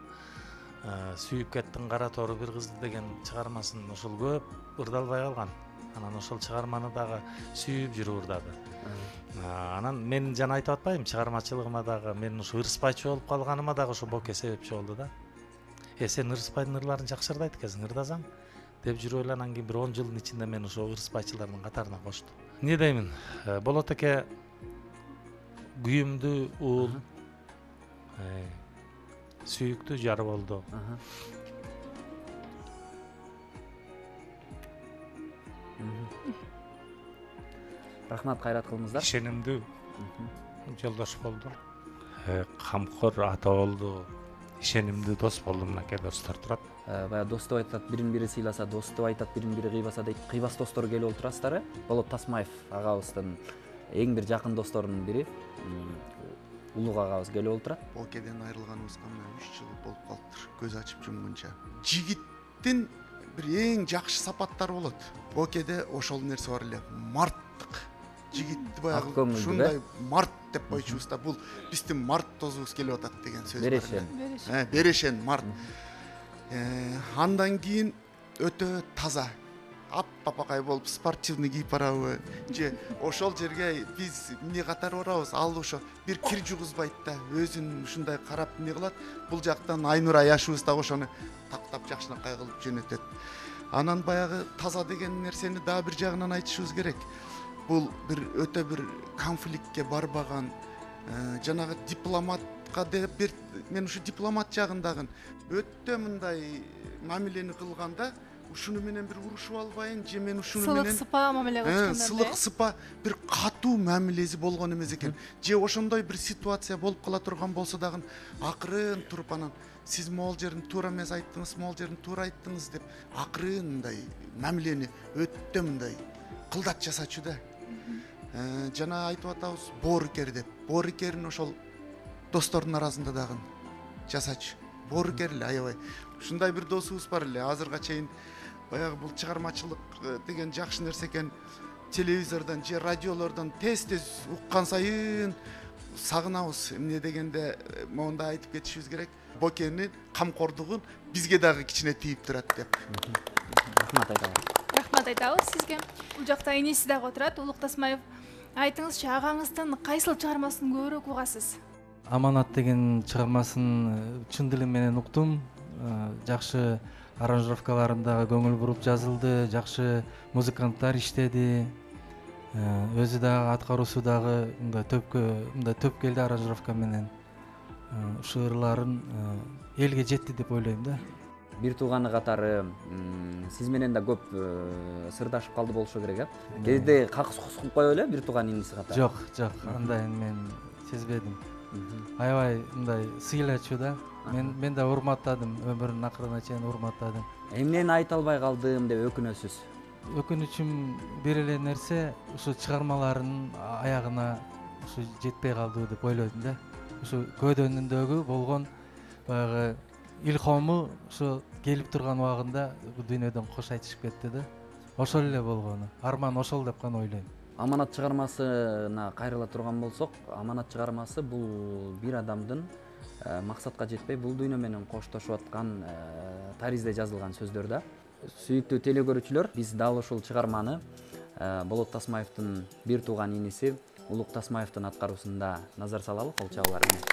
сүйүп кеттин кара тору бир кызды деген чыгармасын ошол көп ырдалбай калган. Анан ошол чыгарманы дагы сүйүп жүрүп ырдады. Анан мен жана айтып атпайм, чыгармачылыгыма дагы мен ушу ырыспайчу болуп калганыма дагы ошо Боке себепчи болду да. Э сен Ырыспайдын ырларын жакшы ырдайт экенсиң, ырдасаң деп жүрүп эле анан кийин бир он жылдын ичинде мен ошо ырыспайчылардын катарына коштум. Эмне деймин? Болот эке күйүмдүү уул, сүйүктүү жар болду. Рахмат, кайрат кылыңыздар. Ишенимдүү жолдош болду. Камкор ата болду. Ишенимдүү дос болду, мынакей достор турат. Бая доступ айтат, бирин бири сыйласа, доступ айтат, бирин бири кыйбаса дейт. Кыйбас достор келип отурасыздар. Болот Тасмаев агабыздын эң бир жакын досторунун бири, Улук агабыз келип отурат. Бокеден айрылганыбызга мына үч жыл болуп калыптыр, көз ачып жумгунча. Жигиттин бир эң жакшы сапаттары болот. Бокеде ошол нерсе бар эле, марттык. Жигитти баягы ушундай март деп койчубуз да, бул биздин март тозубуз келип атат деген сөз бар. Берешен. Берешен март. Андан кийин өтө таза, ап-апакай болуп спортивный кийип барабы же ошол жерге биз эмне катар барабыз, ал ошо бир кир жугузбайт да, өзүн ушундай карап эмне кылат. Бул жактан Айнур Аяшыбыз да ошону таптап жакшынакай кылып жөнөтөт. Анан баягы таза деген нерсени дагы бир жагынан айтышыбыз керек. Бул бир өтө бир конфликтке барбаган, жанагы дипломатка деп бир мен ушу дипломат жагындагы өтө мындай мамилени кылганда ушуну менен бир урушуп албайын же мен ушуну менен сылык сыпа мамиле кылышканда сылык сыпа бир катуу мамилеси болгон эмес экен. Же ошондой бир ситуация болуп кала турган болсо дагы акырын туруп анан сиз могул жерин туура эмес айттыңыз, могул жерин туура айттыңыз деп акырын мындай мамилени өтө мындай кылдат жасачу да. Жана айтып атабыз боорукер деп. Боорукерин ошол достордун арасында дагы жасачу. Боорукер эле аябай. Ушундай бир досубуз бар эле. Азырга чейин баягы бул чыгармачылык деген жакшы нерсе экен. Телевизордон же радиолордон тез-тез уккан сайын сагынабыз. Эмне дегенде монда айтып кетишибиз керек. Бокенин камкордугун бизге дагы кичине тийип турат деп. Рахмат айтабыз. Рахмат айтабыз сизге. Бул жакта иниси дагы отурат. Улук Тасмаев, айтыңызчы, агаңыздын кайсыл чыгармасын көбүрөөк угасыз? Аманат деген чыгармасын чын дилим менен уктум. Жакшы аранжировкаларында көңүл буруп жазылды, жакшы музыканттар иштеди. Өзү дагы аткаруусу дагы мындай төпкө мындай төп келди аранжировка менен. Ушу ырларын элге жетти деп ойлойм да. Бир тууганы катары сиз менен да көп сырдашып калды болушу керек, э? Кезде какыс кусуп коё эле бир тууган иниси катары? Жок, жок, андайын мен сезбедим. Аябай мындай сыйлачу да. Мен мен да урматтадым, өмүрүнүн акырына чейин урматтадым. Эмнени айта албай калдым деп өкүнөсүз? Өкүнүчүм бир эле нерсе, ушу чыгармаларынын аягына ушу жетпей калды деп ойлойм да. Ушу көйдөнүндөгү болгон баягы илхому ушу келип турган убагында бул дүйнөдөн кош айтышып кетти да. Ошол эле болгону. Арман ошол деп гана ойлойм. Аманат чыгармасына кайрыла турган болсок, Аманат чыгармасы бул бир адамдын максатка жетпей бул дүйнө менен коштошуп аткан таризде жазылган сөздөр да. Сүйүктүү телекөрүүчүлөр, биз дал ушул чыгарманы Болот Тасмаевдин бир тууган иниси Улук Тасмаевдин аткаруусунда назар салалы, кол чабуулар менен.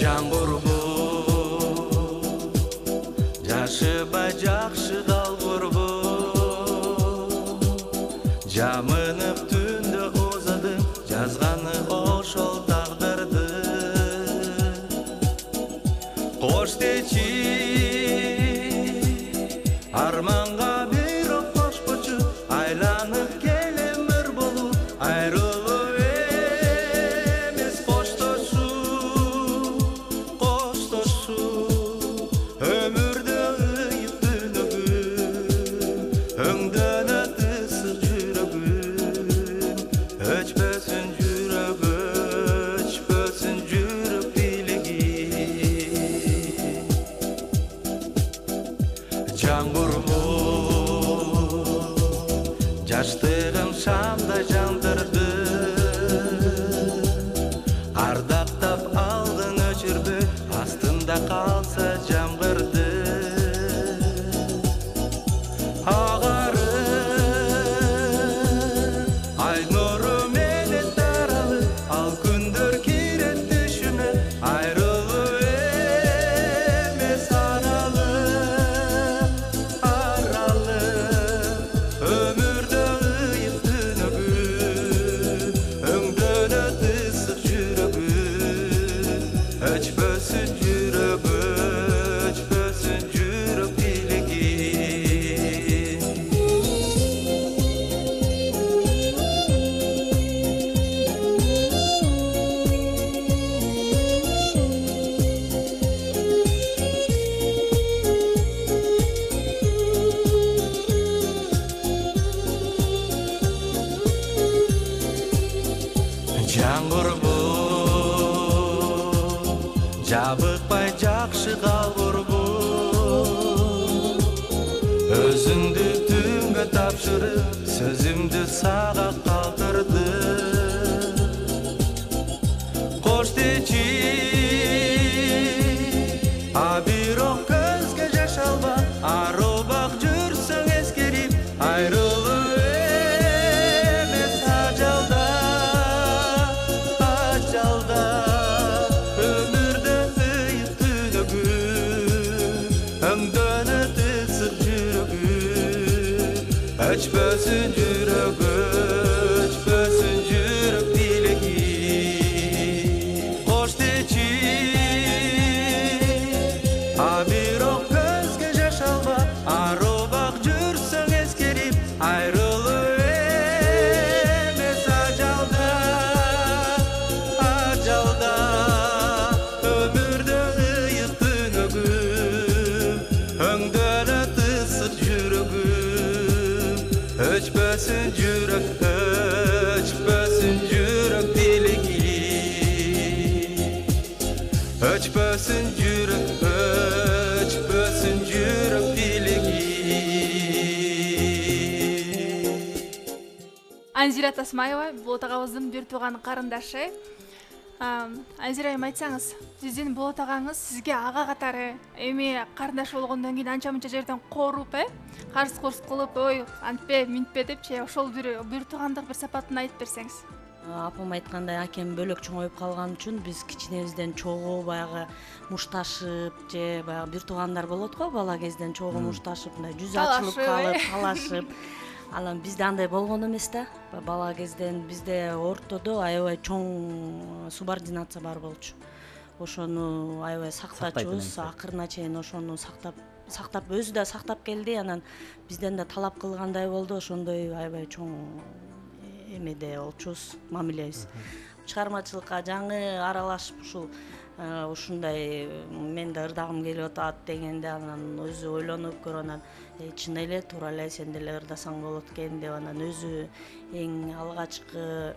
Жамбур бул, жашыбай жакшы далбур бул, жамынып түндө озады, жазганы ошол тагдырды. Кош дечи, арманга бирок кошпочу, айланып келемир болуп, айрылып жаштыгым шамдай жандырды, ардактап алдын өчүрбөй, астында калса жамгырды. Агары ай нуру менен таралып, ал күндөр кирет түшүмө, айрылуу эмес аралык, аралык. Өмүрдө жамбур бул, жабыкпай жакшы калбур бул, өзүңдү түнгө тапшырып, сөзүмдү сага калтырды. Кош дечи өчпөсүн жүрөк, өчпөсүн жүрөк тилеги. Кош дечи, а бирок көзгө жаш алба, арубак жүрсөң эскерип, айрылуу эмес ажалда, ажалда. Өмүрдө ыйык түнөгүм, өңдөлөт ысык жүрөгүм. Өчпөсүн жүрөк, өчпөсүн жүрөк тилеги. Өчпөсүн жүрөк, өчпөсүн жүрөк тилеги. Анзира Тасмаева Болот агабыздын бир тууган карындашы. Анзира айым, айтсаңыз, сиздин Болот агаңыз сизге ага катары эми карындаш болгондон кийин анча мынча жерден кооруп, э, карс курс кылып, ой, антпе, минтпе депчи, ошол бир бир туугандык бир сапатын айтып берсеңиз. Апам айткандай, акем бөлөк чоңоюп калган үчүн биз кичинебизден чогуу баягы мушташып же баягы бир туугандар болот го, бала кезден чогуу мушташып, мындай жүзү ачылып калып, талашып. Анан бизде андай болгон эмес да. Бала кезден бизде ортодо аябай чоң субординация бар болчу. Ошону аябай сактачубуз, акырына чейин ошону сактап сактап өзү да сактап келди. Анан бизден да талап кылгандай болду, ошондой аябай чоң эмеде болчубуз, мамилебиз. Чыгармачылыкка жаңы аралашып ушул ушундай мен да ырдагым келип атат дегенде, анан өзү ойлонуп көрүп, анан чын эле туура эле сен деле ырдасаң болот экен деп, анан өзү эң алгачкы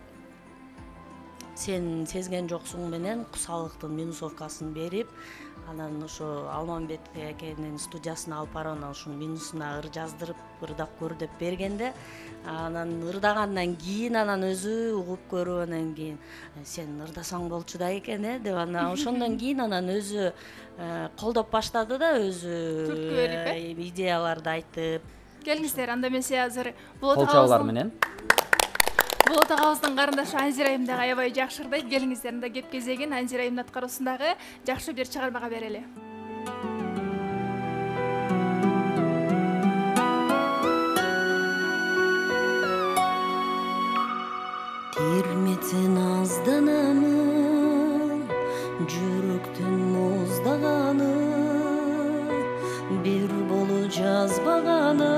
сен сезген жоксуң менен Кусалыктын минусовкасын берип, анан ошо Алмамбет экенин студиясына алып барып, анан ушунун минусуна ыр жаздырып ырдап көр деп бергенде, анан ырдагандан кийин анан өзү угуп көрүп, анан кийин сен ырдасаң болчу да экен, э деп, анан ошондон кийин анан өзү колдоп баштады да, өзү түрткү берип, э, идеяларды айтып. Келиңиздер, анда эмесе азыр Болот агабыздын менен Болот агабыздын карындашы Анзира айым дагы аябай жакшы ырдайт. Келиңиздер, анда кеп кезегин Анзира айымдын аткаруусундагы жакшы бир чыгармага берели. Терметсен азданамын, жүрөктүн муздаганы, бир болу жазбаганы,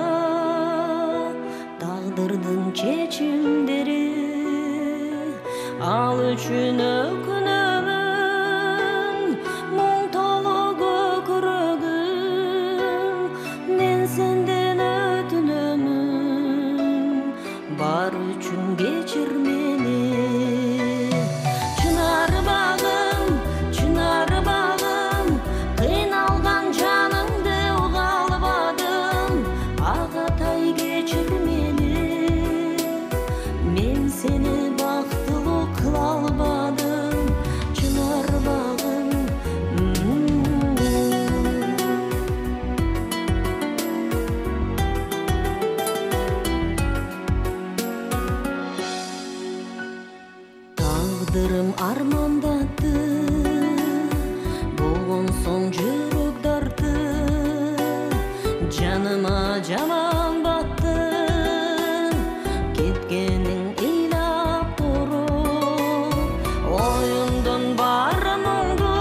тагдырдын чечимдери, ал үчүн өкүнөмүн, муң толу көкүрөгүм, мен сенден өтүнөмүн, бар үчүн кечир мени. Чынар багым, чынар багым, кыйналган жаныңды уга албадым, агатай кечир мени, мен сени бактылуу кыла албадым, чынар багым. Тагдырым армандатты, болгон соң жүрөк дарты, жаныма жаман батты, кеткениң ыйлап туруп, оюңдун баары мұңду,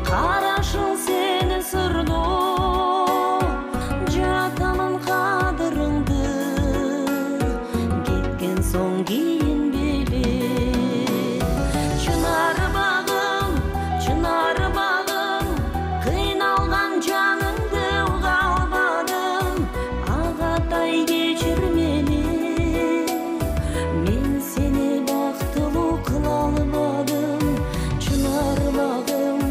карашың сени сырдуу, жатамын кадырыңды, кеткен соң кийин билип. Чынар багым, чынар багым, кыйналган жаныңды уга албадым, агатай кечир мени, мен сени бактылуу кыла албадым, чынар багым.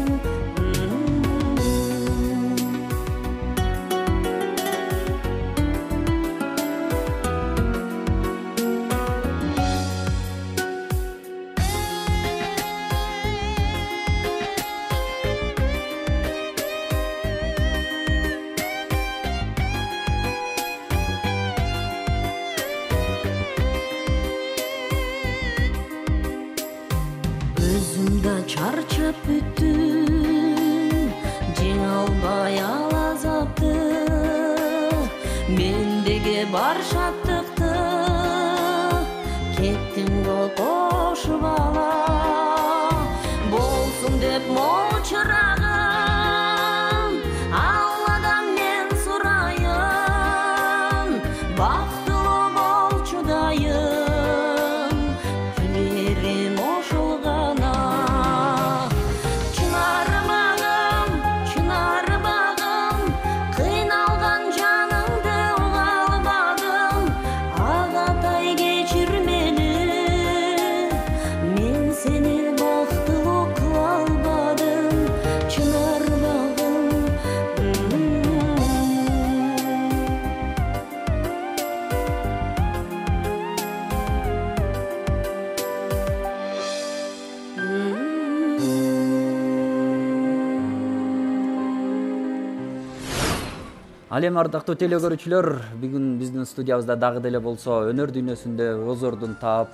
Өзүм да чарчап бүттүм, жеңе албай ал азапты, мендеги бар шаттыкты кеттиң бол кош бала болсун деп мол чырагым Алладан мен сурайын бактылуу болчу дайым күлерим ошол гана чынар багым чынар багым кыйналган жаныңды уга албадым агатай кечирмели мен сени бактылуу кыла албадым чынар багым Ал эми ардактуу теле көрүүчүлөр, бүгүн биздин студиябызда дагы деле болсо өнөр дүйнөсүндө өз ордун таап,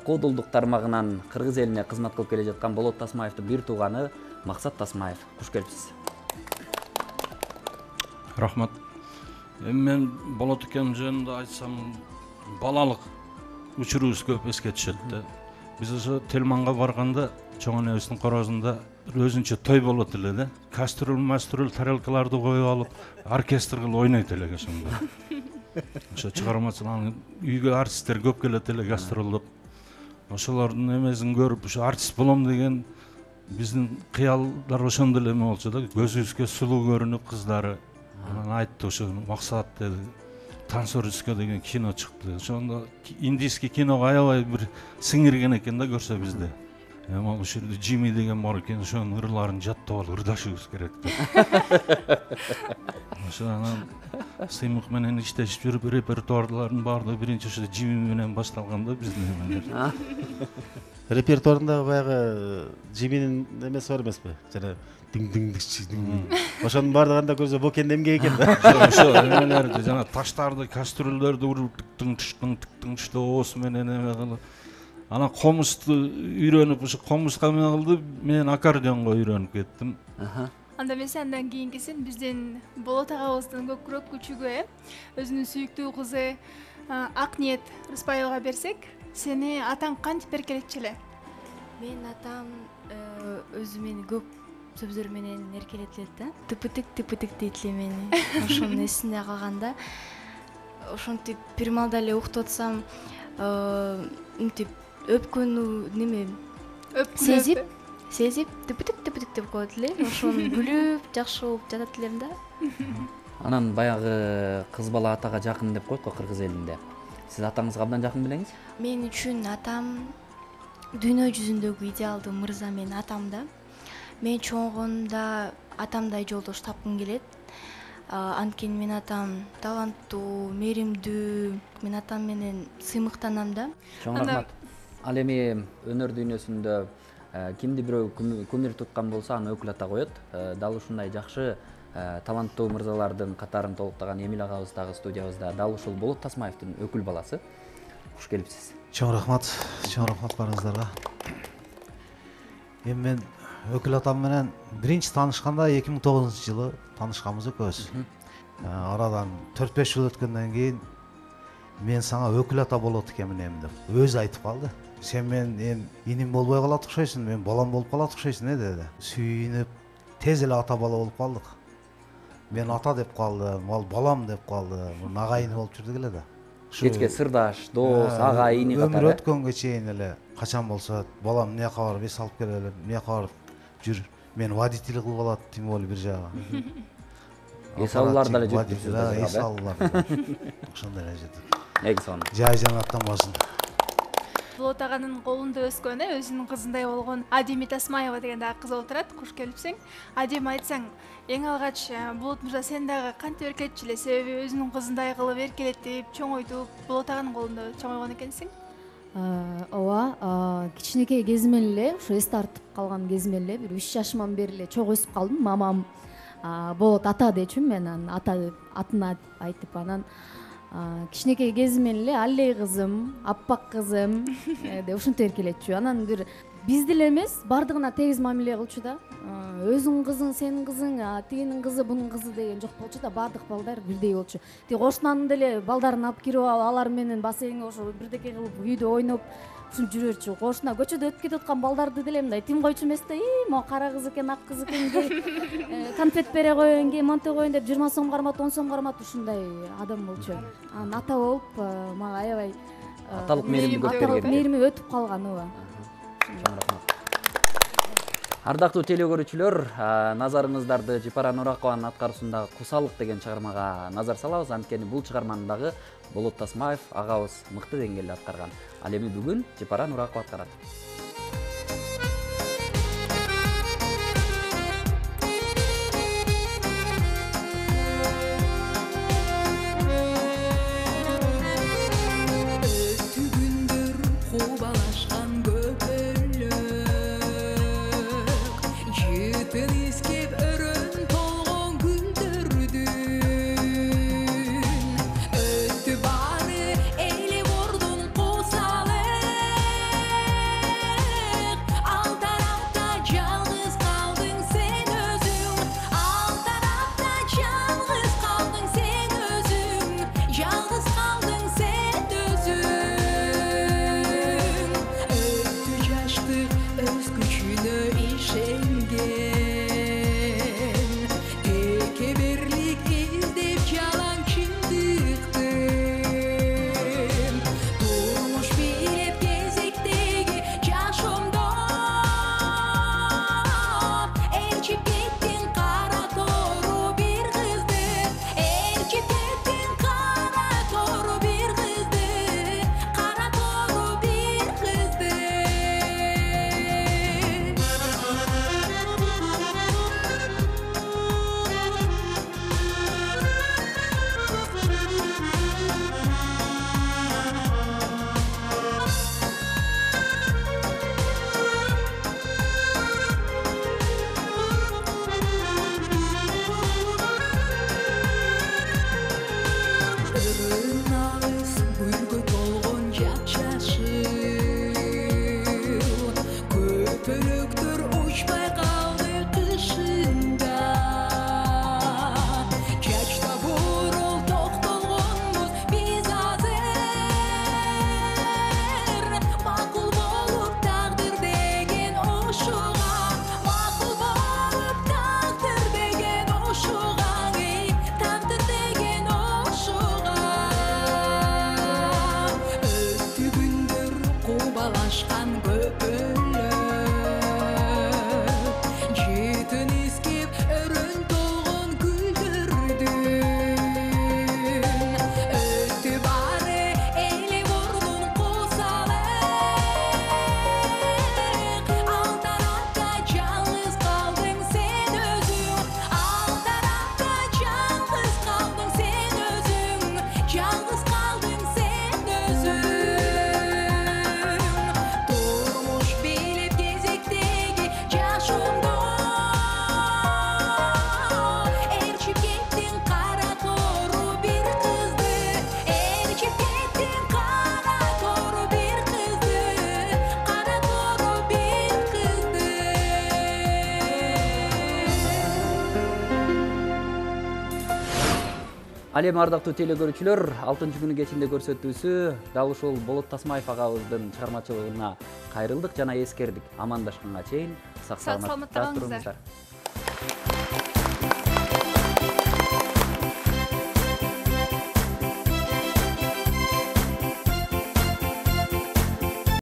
куудулдук тармагынан кыргыз элине кызмат кылып келе жаткан Болот Тасмаевдин бир тууганы Максат Тасмаев. Куш келипсиз. Рахмат. Эми мен Болот экем жөнүндө айтсам, балалык учурубуз көп эске түшөт да. Биз ошо Телманга барганда чоң энебиздин корозунда бир өзүнчө той болот эле да. Кастрюль, мастрюль, тарелкаларды коюп алып, оркестр кылып ойнойт элек ошондо. Ошо чыгармачылар үйгө артисттер көп келет эле гастролдоп. Ошолордун эмесин көрүп, ошо артист болом деген биздин кыялдар ошондо эле эме болчу да. Көзүбүзгө сулуу көрүнүп кыздары. Анан айтты ошо максат деди. Танцорская деген кино чыкты. Ошондо индийский киного аябай бир сиңирген экен да көрсө бизде. Эми ал ушул жерде Джимми деген бар экен, ошонун ырларын жаттап алып ырдашыбыз керек да. Ошо анан сыймык менен иштешип жүрүп репертуарлардын баардыгы биринчи ошо Джимми менен башталган да биздин эмелер. Репертуарында баягы Джимминин эмеси бар эмеспи? Жана диң-диң-диң. Ошонун баардыгында көрсө Бокен эмге экен да. Ошо эмелерди, жана таштарды, кастрюльдөрдү уруп тыктың тыштың тыктың тышты оос менен эме кылып. Анан комузду үйрөнүп, ошо комузга эме кылды, мен аккордеонго үйрөнүп кеттим. Анда эмесе андан кийинкисин биздин Болот агабыздын көкүрөк күчүгү э өзүнүн сүйүктүү кызы Акниет Рыспайылга берсек, сени атаң кантип эркелетчү эле? Мен атам өзү мени көп сөздөр менен эркелетет эле да. Тыпытык тыпытык дейт эле мени. Ошонун эсинде калганда ошентип бир маалда эле уктуп атсам, мынтип өпкөнү неме сезип сезип тыпытык тыпытык деп коет эле. Ошону күлүп жакшы болуп жатат элем да. Анан баягы кыз бала атага жакын деп коет го кыргыз элинде. Сиз атаңызга абдан жакын белеңиз? Мен үчүн атам дүйнө жүзүндөгү идеалдуу мырза менин атам да. Мен чоңгондо атамдай жолдош тапкым келет. Анткени менин атам таланттуу, мээримдүү, мен атам менен сыймыктанам да. Чоң рахмат. Ал эми өнөр дүйнөсүндө кимди бирөө кумир туткан болсо аны өкүл ата коет. Дал ушундай жакшы таланттуу мырзалардын катарын толуктаган Эмил агабыз дагы студиябызда. Дал ушул Болот Тасмаевдин өкүл баласы. Куш келипсиз. Чоң рахмат, чоң рахмат барыңыздарга. Эми мен өкүл атам менен биринчи таанышканда эки миң тогузунчу жылы таанышканбыз экөөбүз. Арадан төрт беш жыл өткөндөн кийин мен сага өкүл ата болот экенмин деп өзү айтып калды. Сен мен эми иним болбой калат окшойсуң, мен балам болуп калат окшойсуң э деди. Сүйүнүп тез эле ата бала болуп калдык. Мен ата деп калдым, ал балам деп калды. Муну агайын болуп жүрдүк эле да. Кечке сырдаш, дос, ага, ини катары. Өмүр өткөнгө чейин эле качан болсо балам эмне кабар, эс алып келели, эмне кабар жүр. Мен водитель кылып алат, тем более бир жагы. Эс алуулар деле жүрүп да, эс алуулар. Ошондой эле жүрдүк. Эки сон. Жай жанаттан болсун. Болот аганын колунда өскөн, өзүнүн кызындай болгон Адеми Тасмаева деген дагы кыз отурат. Куш келипсиң. Адем, айтсаң, эң алгач Болот мырза сен дагы кантип эркелетчү эле? Себеби өзүнүн кызындай кылып эркелетип, чоңойтуп, Болот аганын колунда чоңойгон экенсиң. Ооба, кичинекей кезимен эле, ушу эс тартып калган кезимен эле, бир үч жашыман бери эле чогуу өсүп калдым. Мамам Болот ата дечүмүн, мен анан ата деп атын айтып, анан кичинекей кезимен эле Аллей кызым, аппак кызым деп ушинтип эркелетчү. Анан бир биз деле эмес, бардыгына тегиз мамиле кылчу да. Өзүңүн кызың, сенин кызың, тигинин кызы, бунун кызы деген жок болчу да, бардык балдар бирдей болчу. Тиги кошунанын деле балдарын алып кирип алып, алар менен бассейнге ошо бирдеке кылып, үйдө ойноп ушинтип жүрөрчү. Кошуна көчөдө өтүп кетип аткан балдарды деле мындай тим койчу эмес да, «Ий, могу кара кыз экен, ак кыз экен, конфет бере коеюн, кей монте коеюн» деп жыйырма сом кармат, он сом кармат ушундай адам болчу. Анан ата болуп, мага аябай аталык мээрими көп берген. Аталык мээрими өтүп калган ооба. Ардактуу теле көрүүчүлөр, назарыңыздарды Жипара Нуракованын аткаруусундагы Кусалык деген чыгармага назар салабыз. Анткени бул чыгарманы дагы Болот Тасмаев агабыз мыкты деңгээлде аткарган. Ал эми бүгүн Жипара Нуракова аткарат. Ал эми ардактуу теле көрүүчүлөр, алтынчы күнү кечинде көрсөтүүсү дал ушул Болот Тасмаев агабыздын чыгармачылыгына кайрылдык жана эскердик. Амандашканга чейин сак саламатта туруңуздар.